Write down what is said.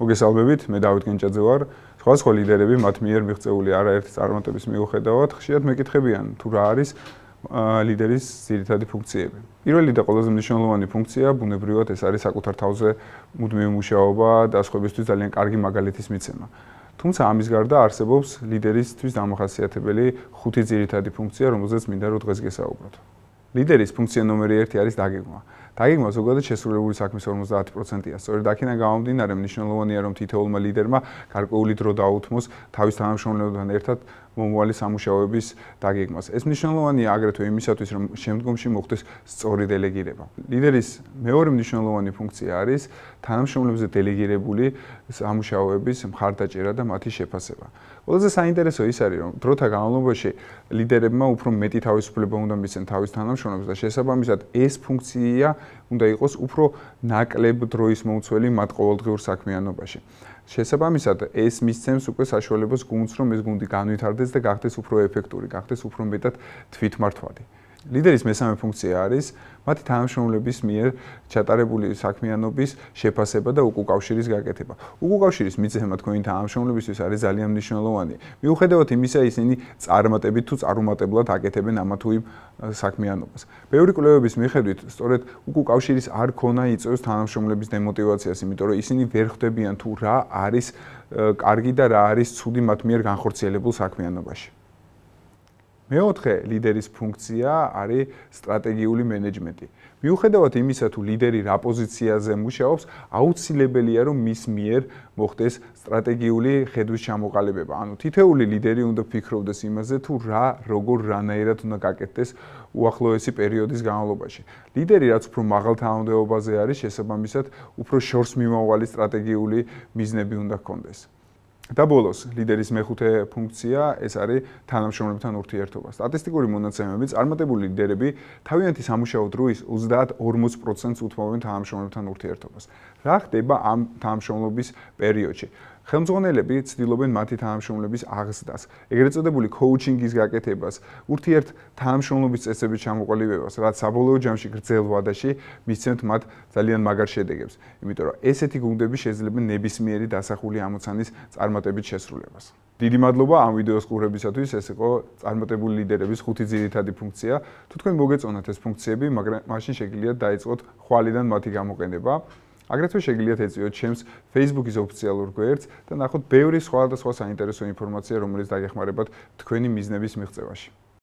მოგესალმებით, მე დავით გენჭაძე ვარ. სხვადასხვა ლიდერები მათ მიერ მიღწეული არაერთი წარმატების მიუხედავად ხშირად მეკითხებიან, თუ რა არის ლიდერის ძირითადი ფუნქციები. პირველი და ყველაზე მნიშვნელოვანი ფუნქცია ბუნებრივად ეს არის საკუთარ თავზე მუდმივი მუშაობა და სხვებისთვის ძალიან კარგი მაგალითის მიცემა. თუმცა ამის გარდა არსებობს ლიდერისთვის დამახასიათებელი 5 ძირითადი ფუნქცია, რომელზეც მინდა რომ დღეს გესაუბროთ. ლიდერის ფუნქცია ნომერი 1 არის დაგეგმა. დაგეგმა ზოგადად შესრულებული საქმის 50%-ია. სწორედ აქედან გამომდინარე მნიშვნელოვანია რომ თითოეულმა ლიდერმა გარკვეული დრო დაუთმოს თავის თანამშრომლებთან ერთად მომავალი სამუშაოების დაგეგმას. ეს მნიშვნელოვანია აგრეთვე იმისათვის, რომ შემდგომში მოხდეს სწორი დელეგირება. ლიდერის მეორე მნიშვნელოვანი ფუნქცია არის თანამშრომლებზე დელეგირებული სამუშაოების მხარდაჭერა და მათი შეფასება. ყველაზე საინტერესო ის არის, რომ დროთა განმავლობაში ლიდერებმა უფრო მეტი თავისუფლება უნდა მისცენ თავის თანამშრომლებს და შესაბამისად ეს ფუნქცია უნდა იყოს უფრო ნაკლებ დროის მომცველი მათ ყოველდღიურ საქმიანობაში. შესაბამისად ეს მისცემს უკვე საშუალებას გუნდს, რომ ეს გუნდი განვითარდეს და გახდეს უფრო ეფექტური, გახდეს უფრო მეტად თვითმართვადი. ლიდერის მესამე ფუნქცია არის მათი თანამშრომლების მიერ ჩატარებული საქმიანობის შეფასება და უკავშირის გაკეთება. უკავშირის მიცემა თქვენი თანამშრომლებისთვის არის ძალიან მნიშვნელოვანი. მიუხედავად იმისა, ისინი წარმატებით თუ წარუმატებლად აკეთებენ ამა თუ იმ საქმიანობას. ბევრი კვლევების მიხედვით, სწორედ უკავშირის არ ქონა იწვევს თანამშრომლების დემოტივაციას, იმიტომ რომ ისინი ვერ ხვდებიან თუ რა არის კარგი და რა არის ცუდი მათ მიერ განხორციელებულ საქმიანობაში. მეოთხე ლიდერის ფუნქცია არის სტრატეგიული მენეჯმენტი. მიუხედავად იმისა, თუ ლიდერი რა პოზიციაზე მუშაობს, აუცილებელია რომ მის მიერ მოხდეს სტრატეგიული ხედვის ჩამოყალიბება. ანუ თითოეული ლიდერი უნდა ფიქრობდეს იმაზე, თუ რა, როგორ, რანაირად უნდა გაკეთდეს უახლოესი პერიოდის განმავლობაში. ლიდერი რაც უფრო მაღალ თანამდებობაზე არის, შესაბამისად, უფრო შორს მიმავალი სტრატეგიული მიზნები უნდა ჰქონდეს. და ბოლოს, ლიდერის მეხუთე ფუნქცია ეს არის თანამშრომლებთან ურთიერთობა. სტატისტიკური მონაცემებით წარმატებული ლიდერები თავიანთი სამუშაო დროის 30-40%-ს უთმობენ თანამშრომლებთან ურთიერთობას. რა ხდება ამ თანამშრომლობის პერიოდში? ხელმძღვანელები ცდილობენ მათი თანამშრომლების აღზრდას, ეგრეთ წოდებული კოუჩინგის გაკეთებას, ურთიერთ თანამშრომლობის წესების ჩამოყალიბებას, რაც საბოლოო ჯამში გრძელ ვადაში მისცემთ მათ ძალიან მაგარ შედეგებს. იმიტომ რომ ესეთი გუნდები შეძლებენ ნებისმიერი დასახული ამოცანის წარმატებით შესრულებას. დიდი მადლობა ამ ვიდეოს ყურებისათვის, ეს იყო წარმატებული ლიდერების 5 ძირითადი ფუნქცია. თუ თქვენ მოგეწონათ ეს ფუნქციები, მაგრამ მაშინ შეგიძლიათ დაიწყოთ ხვალიდან მათი გამოყენება. აგრეთვე შეგიძლიათ ეწვიოთ ჩემს Facebook-ის ოფიციალურ გვერდს და ნახოთ ბევრი სხვადასხვა საინტერესო ინფორმაცია, რომელიც დაეხმარებათ თქვენი მიზნების მიღწევაში.